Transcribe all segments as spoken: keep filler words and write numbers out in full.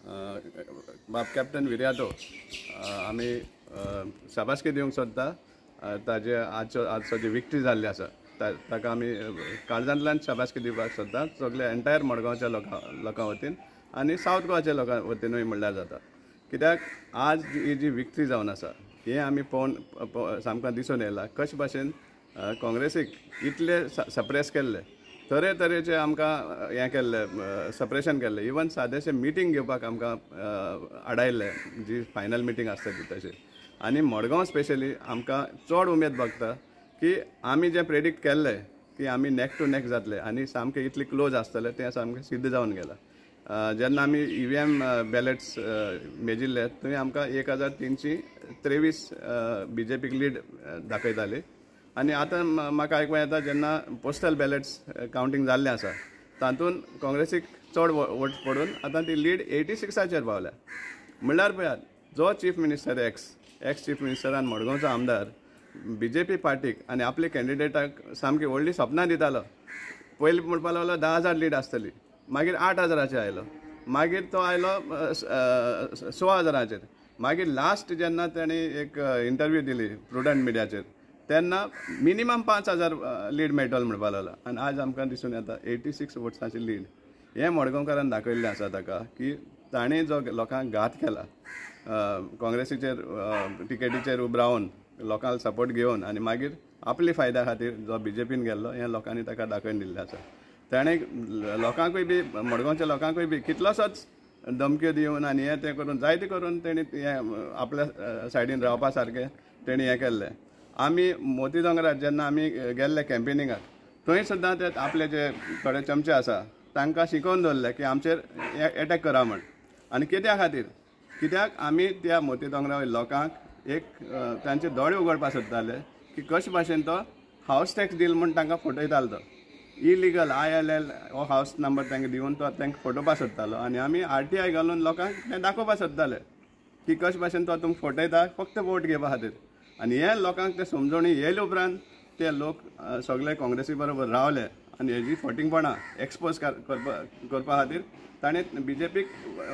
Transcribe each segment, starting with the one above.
बाब कॅप्टन विरियातो आमी शाबासकी दिवंक सोदता. ताजे आजचो आजचो जी विक्ट्री जाल्ली आसा ताका आमी काळजांतल्यान शाबासकी दिवपाक सोदता सगळे एंटायर मडगांवच्या लोकां लोकां वतीन आनी सावथ गोवाच्या लोकां वतीनूय म्हणल्यार जाता. कित्याक आज ही जी विक्ट्री जावन आसा हें आमी पळोवन सामकें दिसून येयलां कशे भाशेन काँग्रेसीक इतले सप्रेस केल्ले, तरेतरेचे आमकां हें केल्लें सप्रेशन केल्लें, इवन सादेशें मिटींग घेवपाक आमकां आडायल्लें जी फायनल मिटींग आसता ती तशी. आनी मडगांव स्पेशली आमकां चड उमेद भोगता की आमी जें प्रेडिक्ट केल्लें की आमी नेक टू नेक जातले आनी सामकें इतले क्लोज आसतले तें सामकें सिद्ध जावन गेलां. जेन्ना आमी ई व्ही एम बॅलेट्स मेजिल्ले थंय आमकां एक हजार तिनशी त्रेवीस बी जे पीक लीड दाखयताली आनी आतां म्हाका आयकूंक येता जेन्ना पोस्टल बॅलेट्स कावंटींग जाल्लें आसा तातूंत काँग्रेसीक चड वोट पडून आतां ती लीड एटी सिक्साचेर पावल्या. म्हणल्यार पळयात जो chief minister ex ex chief मिनिस्टरान मडगांवचो आमदार बी जे पी पार्टीक आनी आपले कॅन्डिडेटाक सामकी व्हडली सपनां दितालो. पयलीं म्हणपाक लागलो धा हजार लीड आसतली, मागीर आठ हजाराचेर आयलो, मागीर तो आयलो स हजाराचेर, मागीर लास्ट जेन्ना ताणें एक इंटरव्यू दिली प्रुडंट मिडियाचेर तेन्ना मिनिमम पांच हजार लीड मेळटलो म्हणपाक लागलो आनी आज आमकां दिसून येता एटी सिक्स वोट्सांची लीड. हें मडगांवकारान दाखयल्लें आसा ताका की ताणें जो लोकांक घात केला काँग्रेसीचेर टिकेटीचेर उब रावन लोकांक सपोर्ट घेवन आनी मागीर आपले फायद्या खातीर जो बी जे पीन गेल्लो हें लोकांनी ताका दाखोवन दिल्लें आसा. ताणें लोकांकूय बी मडगांवच्या लोकांकूय बी कितलोसोच धमक्यो दिवन आनी हें तें करून जायते करून तेणी हें आपल्या सायडीन रावपा सारकें तेणी हें केल्लें. आमी मोती दोंगरार जेन्ना आमी गेल्ले कॅम्पेनिंगाक थंय सुद्दां ते आपले जे थोडे चमचे आसा तांकां शिकोवन दवरले की आमचेर एटॅक करा म्हण. आनी कित्या खातीर, कित्याक आमी त्या मोती दोंगरा वयल्या लोकांक एक तांचे दोळे उगडपाक सोदताले की कशे भाशेन तो हावस टॅक्स दिल म्हूण तांकां फटयतालो. तो इलिगल I L L हो हावस नंबर तांकां दिवन तो तांकां फटोवपाक सोदतालो आनी आमी आर टी I घालून लोकांक तें दाखोवपाक सोदताले की कशे भाशेन तो तुमकां फटयता फक्त वोट घेवपा खातीर. आनी हे लोकांक ते समजोणी येयले उपरांत ते लोक सगळे काँग्रेसी बरोबर रावले आनी हेजी फटींगपणां एक्सपोज करपा करपा खातीर ताणें बी जे पीक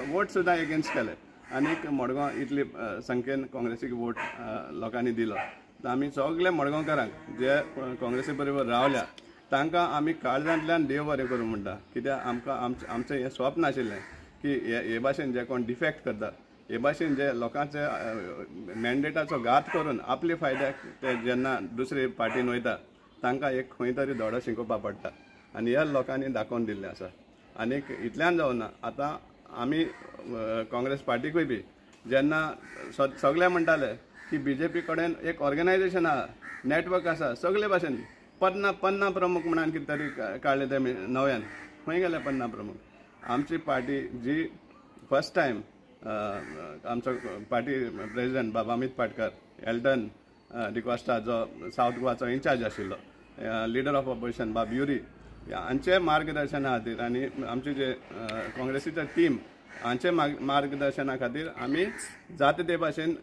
वोट सुद्दां एगेन्स्ट केले आनीक मडगांव इतली संख्येन काँग्रेसीक वोट लोकांनी दिलो. आमी सगळे मडगांवकारांक जे काँग्रेसी बरोबर रावल्या तांकां आमी काळजांतल्यान देव बरें करूं म्हणटा. कित्याक आमकां आमचें आमचें हें स्वप्न आशिल्लें की हे भाशेन जे कोण डिफेक्ट करता हे भाशेन जे लोकांचे मॅन्डेटाचो घात करून आपले फायद्याक ते जेन्ना दुसरे पार्टीन वयता तांकां एक खंय तरी धडो शिकोवपाक पडटा आनी ह्या लोकांनी दाखोवन दिल्लें आसा. आनीक इतल्यान जावना आतां आमी काँग्रेस पार्टीकूय बी जेन्ना सगळे म्हणटाले की बी जे पी कडेन एक ऑर्गनायजेशन आसा, नॅटवर्क आसा, सगळे भाशेन पन्ना पन्ना प्रमुख म्हणून कितें तरी काडलें ते नव्यान, खंय गेले पन्ना प्रमुख? आमची पार्टी जी फर्स्ट टायम आमचो पार्टी प्रेजिडंट बाबा अमीत पाटकर, एल्टन डिकॉस्टा जो सावथ गोवाचो इन्चार्ज आशिल्लो, लिडर ऑफ ऑपोजिशन बाब युरी हांचे मार्गदर्शना खातीर आनी आमचे जे काँग्रेसीचे टीम हांचे मार्गदर्शना खातीर आमी जाता ते भाशेन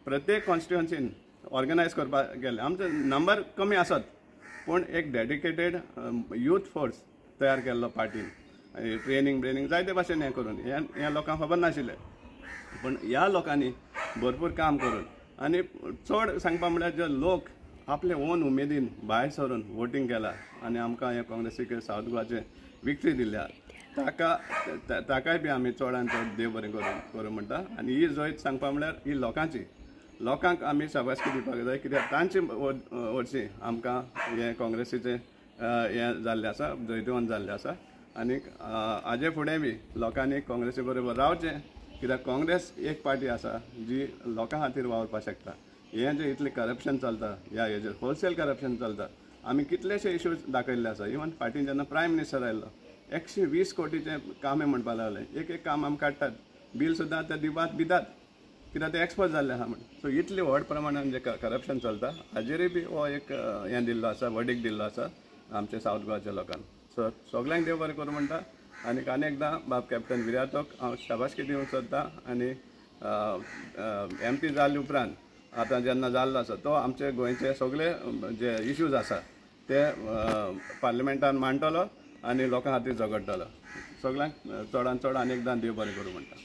प्रत्येक कॉन्स्टिट्युएन्सीन ऑर्गनायज करपाक गेले. आमचो नंबर कमी आसत पूण एक डेडिकेटेड यूथ फोर्स तयार केल्लो पार्टीन, ट्रेनींग ब्रेनींग जायते भाशेन हें करून हें लोकांक खबर नाशिल्लें पूण ह्या लोकांनी भरपूर काम करून आनी चड सांगपा म्हळ्यार जे लोक आपले ओन उमेदीन भायर सरून वोटींग केला आनी आमकां हें काँग्रेसीक सावथ गोवाचें विक्ट्री दिल्या ताका ताकाय बी आमी चडान चड देव बरें करूं करूं म्हणटा. आनी ही जैत सांगपा म्हळ्यार ही लोकांची, लोकांक आमी शाबासकी दिवपाक जाय कित्याक तांचे वर्सी आमकां हें काँग्रेसीचें हें जाल्लें आसा, जैतिवंत जाल्लें आसा. आनीक हाजे फुडें बी लोकांनी काँग्रेसी बरोबर रावचें कित्याक काँग्रेस एक पार्टी आसा जी लोकां खातीर वावुरपाक शकता. हें जें इतलें करप्शन चलता ह्या हेजेर होलसेल करप्शन चलता, आमी कितलेशे इश्यूज दाखयल्ले आसा. इवन फाटीं जेन्ना प्रायम मिनिस्टर आयल्लो एकशे वीस कोटीचें काम म्हणपाक लागलें, एक एक काम आमी काडटात, बील सुद्दां ते दिवपाक दितात कित्याक ते एक्सपोज जाल्ले आसा म्हण. सो इतले व्हड प्रमाणान जें करप्शन चलता हाजेरूय बी हो एक हें दिल्लो आसा, वर्डीक दिल्लो आसा आमच्या सावथ गोवाच्या लोकांक. सो सगल्यांक देव बरें करूं म्हणटा आनी आनी एकदां बाब कॅप्टन विरियातोक हांव शाबासकी दिवंक सोदता. आनी एम पी जाले उपरांत आतां जेन्ना जाल्लो आसा तो आमचे गोंयचे सगळे जे इश्यूज आसा ते पार्लिमेंटान मांडटलो आनी लोकां खातीर झगडटलो. सगळ्यांक चडान चड आनी एकदां देव बरें करूं म्हणटा.